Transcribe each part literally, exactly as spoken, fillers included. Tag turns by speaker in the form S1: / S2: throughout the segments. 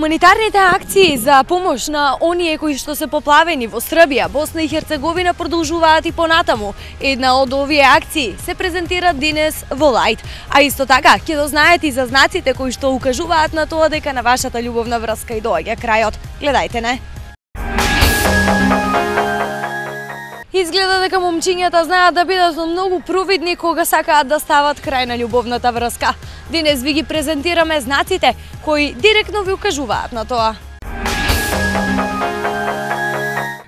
S1: Хуманитарните акции за помош на оние кои што се поплавени во Србија, Босна и Херцеговина продолжуваат и понатаму. Една од овие акции се презентира денес во Лајт, а исто така ќе дознаете и за знаците кои што укажуваат на тоа дека на вашата љубовна врска и доаѓа крајот. Гледајте, не? Изгледа дека момчињата знаат да бидат многу провидни кога сакаат да стават крај на љубовната врска. Денес ви ги презентираме знаците кои директно ви укажуваат на тоа.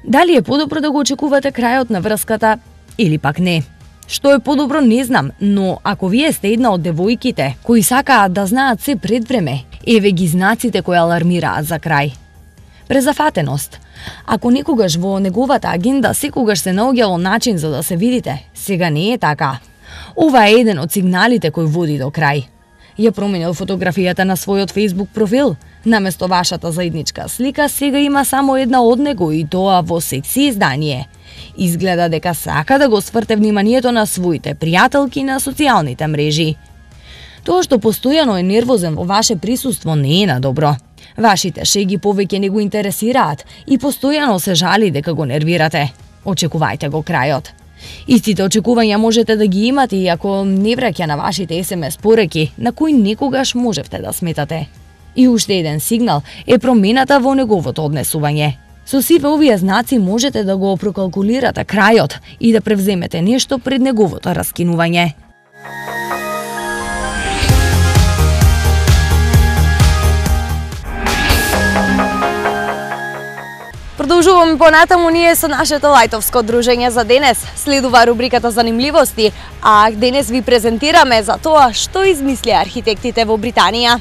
S1: Дали е подобро да го очекувате крајот на врската или пак не? Што е подобро не знам, но ако вие сте една од девојките кои сакаат да знаат се пред време, еве ги знаците кои алармираат за крај. Презафатеност. Ако некогаш во неговата агенда секогаш се наоѓало начин за да се видите, сега не е така. Ова е еден од сигналите кој води до крај. Ја променил фотографијата на својот Facebook профил. Наместо вашата заедничка слика, сега има само една од него и тоа во секси издание. Изгледа дека сака да го сврте вниманието на своите пријателки на социјалните мрежи. Тоа што постојано е нервозен во ваше присуство не е на добро. Вашите шеги повеќе не го интересираат и постојано се жали дека го нервирате. Очекувајте го крајот. Истите очекувања можете да ги имате и ако не враќа на вашите ес ем ес пореки, на кои некогаш можевте да сметате. И уште еден сигнал е промената во неговото однесување. Со сите овие знаци можете да го прокалкулирате крајот и да превземете нешто пред неговото раскинување. Продолжуваме понатаму ние со нашето лајтовско дружење за денес. Следува рубриката Занимливости, а денес ви презентираме за тоа што измисли архитектите во Британија.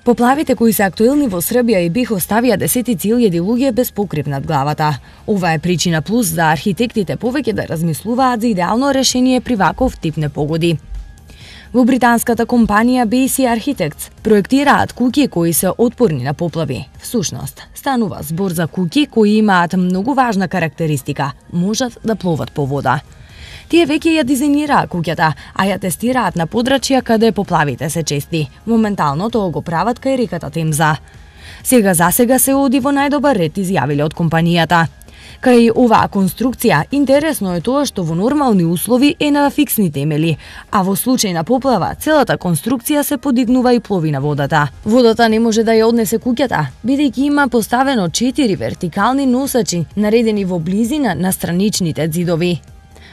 S1: Поплавите кои се актуелни во Србија и бих оставија десетици илјади луѓе без покрив над главата. Ова е причина плюс за архитектите повеќе да размислуваат за идеално решение при ваков тип непогоди. Во британската компанија би и си Architects проектираат куќи кои се отпорни на поплави. Всушност, станува збор за куќи кои имаат многу важна карактеристика – можат да пловат по вода. Тие веќе ја дизајнираа куќата, а ја тестираат на подрачја каде поплавите се чести. Моментално тоа го прават кај реката Темза. Сега за сега се оди во најдобар ред, изјавиле од компанијата. Кај оваа конструкција, интересно е тоа што во нормални услови е на фиксни темели, а во случај на поплава, целата конструкција се подигнува и плови на водата. Водата не може да ја однесе куќата, бидејќи има поставено четири вертикални носачи, наредени во близина на страничните ѕидови.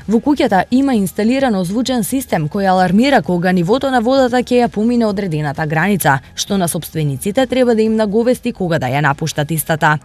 S1: Во куќата има инсталирано звучен систем кој алармира кога нивото на водата ќе ја помине одредената граница, што на сопствениците треба да им наговести кога да ја напуштат истата.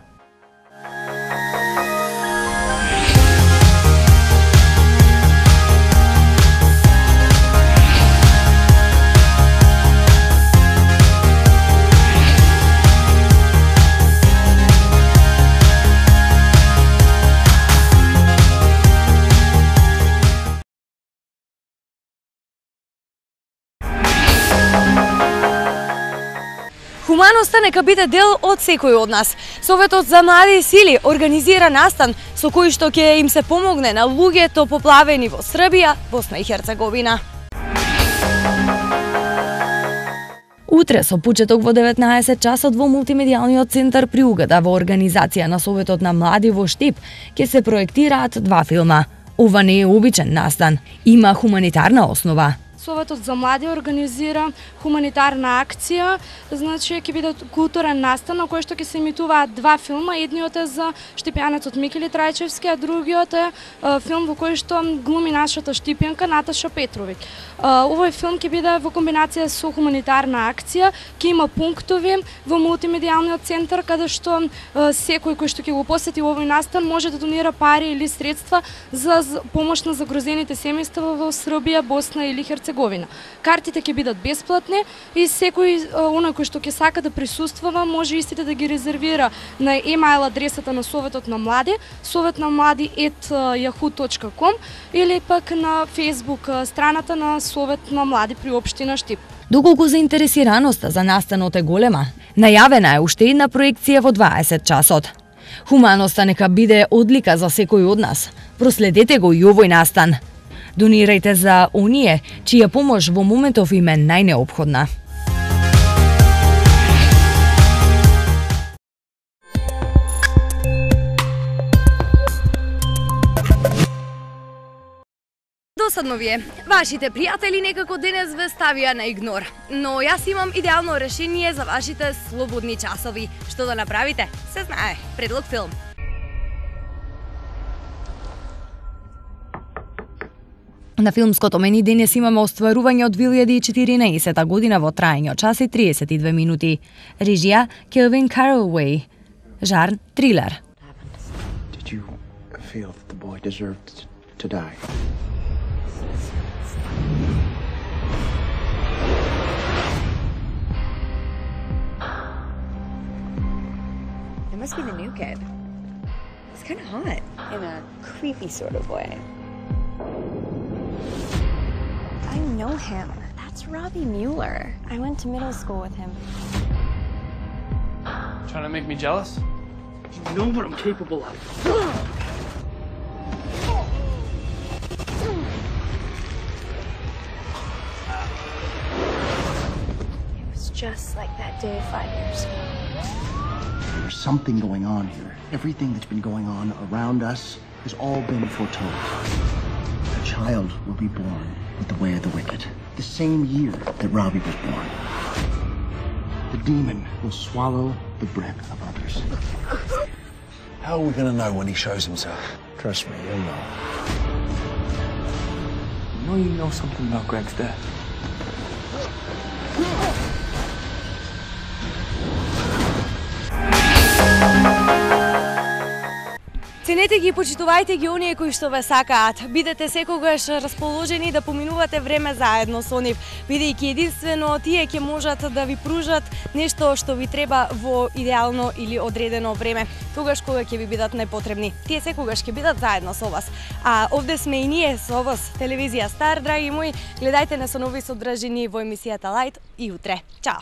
S1: Хуманоста нека биде дел од секој од нас. Советот за млади сили организира настан со кој што ќе им се помогне на луѓето поплавени во Србија, Босна и Херцеговина. Утре со почеток во деветнаесет часот во мултимедијалниот центар при Угада во организација на Советот на млади во Штип ќе се проектираат два филма. Ова не е обичен настан, има хуманитарна основа.
S2: Советот за млади организира хуманитарна акција, значи ќе биде културен настан на кој што ќе се емитуваат два филма, едниот е за штипјанецот Микели Трајчевски, а другиот е филм во кој што глуми нашата штипјанка Наташа Петровиќ. Овој филм ќе биде во комбинација со хуманитарна акција, ќе има пунктови во мултимедијалниот центар каде што секој кој што ќе го посети овој настан може да донира пари или средства за помош на загрозените семејства во Србија, Босна или Херцеговина. Картите ќе бидат бесплатни и секој оној кој што ќе сака да присуствува може истите да ги резервира на емайл адресата на Советот на млади, советнамлади ет јаху точка ком или пак на Facebook страната на Совет на млади при општина Штип.
S1: Доколку заинтересираноста за настанот е голема, најавена е уште една проекција во дваесет часот. Хуманоста нека биде одлика за секој од нас. Проследете го и овој настан. Донирајте за оние чија помош во моментов им е најнеопходна. Досадно ви е. Вашите пријатели некако денес ве ставија на игнор. Но јас имам идеално решение за вашите слободни часови. Што да направите? Се знае. Предлог филм. На филмското мени денес имаме остварување од две илјади и четиринаесета година во траење од час и триесет и две минути. Режија Келвин Каролвеј. Жанр трилер.
S3: Did you feel that the boy deserved to die?
S4: It must be the new kid. He's kind of hot in a creepy sort of way. I know him. That's Robbie Mueller. I went to middle school with him.
S5: Trying to make me jealous?
S3: You know what I'm capable of.
S4: It was just like that day five years ago.
S3: There's something going on here. Everything that's been going on around us has all been foretold. A child will be born with the way of the wicked, the same year that Robbie was born. The demon will swallow the bread of others.
S6: How are we going to know when he shows himself? Trust me, you'll know.
S5: You know you know something about Greg's death.
S1: Ценете ги и почитувајте ги оние кои што ве сакаат. Бидете секогаш расположени да поминувате време заедно со нив, бидејќи единствено тие ќе можат да ви пружат нешто што ви треба во идеално или одредено време, тогаш кога ќе ви бидат најпотребни. Тие секогаш ќе бидат заедно со вас. А овде сме и ние со вас, телевизија Стар, драги мои. Гледајте не со нови содржини во емисијата Лајт и утре. Чао!